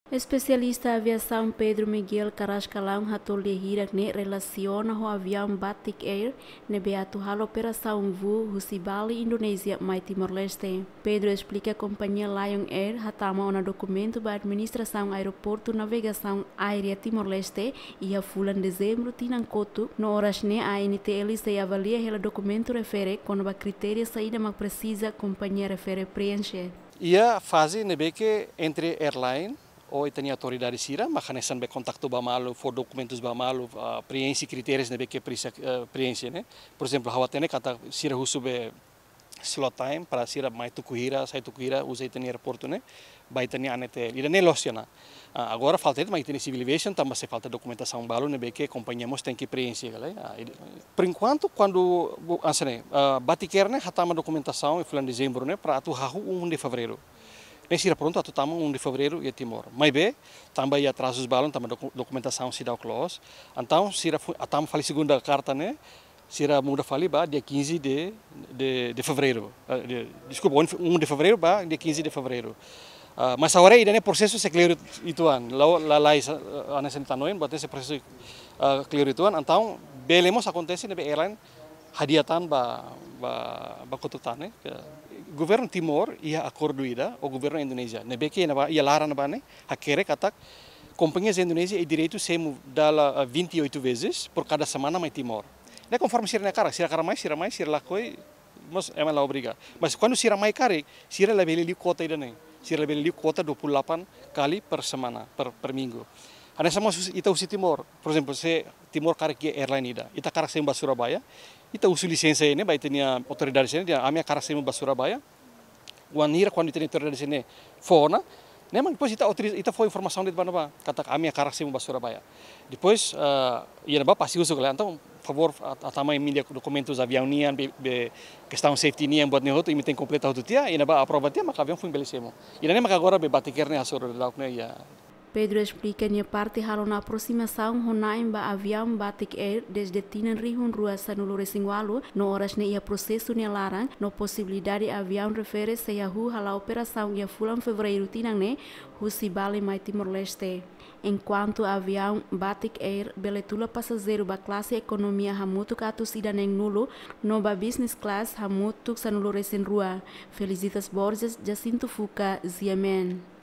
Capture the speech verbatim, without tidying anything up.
Espesialista aviasaun Pedro Miguel Carrascalão hato'o lia hirak ne'e relasiona ho aviaun Batik Air ne'ebé atu halo operasaun voo husi Bali, Indonézia, mai Timor-Leste. Pedro esplika kompañia Lion Air hatama ona dokumentu ba Administrasaun Aeroportu Navegasaun Aérea Timor-Leste iha fulan Dezembru tinan kotuk, no oras ne'e A N T L sei avalia hela dokumentu refere kona-ba kritéria saida mak presiza kompañia refere preenxe. Iha faze ne'ebé ke entre airline ho ita-nia autoridade sira, mak hanesan be kontaktu ba malu, fó dokumentus ba malu, ah, preenxe kritérius ne'ebé ke presiza, eh, preenxe, ne'e. Por ezemplu, ha'u hatene katak sira husu be slot time para sira mai tuku hira, sai tuku hira, uza ita-nia aeroportu ne'e, ba ita-nia A N T L. Ida-ne'e loos ona. Ah, agora falta ita mai ita-nia civil aviation, tanba sei falta dokumentasaun balu ne'ebé ke kompañia mós tenke preenxe, kala. Ah, ida-, por enkuantu, kuandu, bo-, hanesan ne'e, ah, Batik Air ne'e hatama dokumentasaun iha fulan Dezembru ne'e para atu hahú um de Fevereiro. Ne'e sira prontu atu tama um de Fevereiro iha Timor. Maibé, tanba iha atrazus balun, tanba doku-, dokumentasaun seidauk loos. Entaun, sira fu-, hatama fali segunda karta ne'e, sira muda fali ba dia quinze de, de, de Fevereiro. Eh, de, deskulpa, um de Fe-, um de Fevereiro ba dia quinze de Fevereiro. Ah, mas agora ida-ne'e prosesu sei klaru uitoan. La, la, la, ah, hanesan ita hanoin, buat ne'e sei prosesu, ah, klaru uitoan. Entaun, bele mós akontese ne'ebé airline hadi'a tan ba, ba, ba kotuk tan, ne'e. Ke governu Timor iha akordu ida ho governu Indonézia. Ne'ebé ke iha ne'ebá, iha laran ne'ebá ne'e, hakerek katak kompañia Indonézia iha direitu sei emu dala, ah, vinte e oito vezes por cada semana mai Timor. Ne'e konforme sira-nia hakarak, sira hakarak mai, sira mai, sira lakohi, mós ema la obriga. Mas kuandu sira mai karik, sira labele liu kuota ida-ne'e. Sira labele liu kuota dua puluh delapan kali per semana, per, per minggu. Hanesan mós husi, ita husi Timor. Por ezemplu, se Timor karik iha airline ida, ita hakarak sei emu ba Surabaya, ita husu lisensa ne'e ba ita-nia autoridade sira-ne'e, dehan ami hakarak sei emu ba Surabaya. Wainhira kuandu ita-nia autoridade sira-ne'e fó ona, ne'e mak depois ita autoriza, ita fó informasaun de'it ba ne'ebá, katak ami hakarak sei emu ba Surabaya. Depois, ah, iha ne'ebá pasti husu kala, entaun, favór, ha-, hatama imi-nia dokumentus aviaun nian, be, be, kestaun safety nian, buat ne'e hotu, imi tenke kompleta hotu tiha, iha ne'ebá aprova tiha, maka aviaun foin bele sei emu. Ida-ne'e maka agora be Batik Air ne'e hasoru daudauk ne'e iha. Pedro esplika nia parte halo ona aprosimasaun ho na'in ba aviaun Batik Air dezde tinan rihun rua sanulu resin ualu, no oras ne'e iha prosesu nia laran, no posibilidade aviaun refere sei hahú hala'o operasaun iha fulan Fevereiru tinan ne'e, husi Bali mai Timor-Leste. Enkuantu aviaun Batik Air bele tula pasajeiru ba klase ekonomia hamutuk atus ida neen-nulu, no ba business class hamutuk sanulu resin rua. Felicitas Borges, Jacinto Fuca, G M N.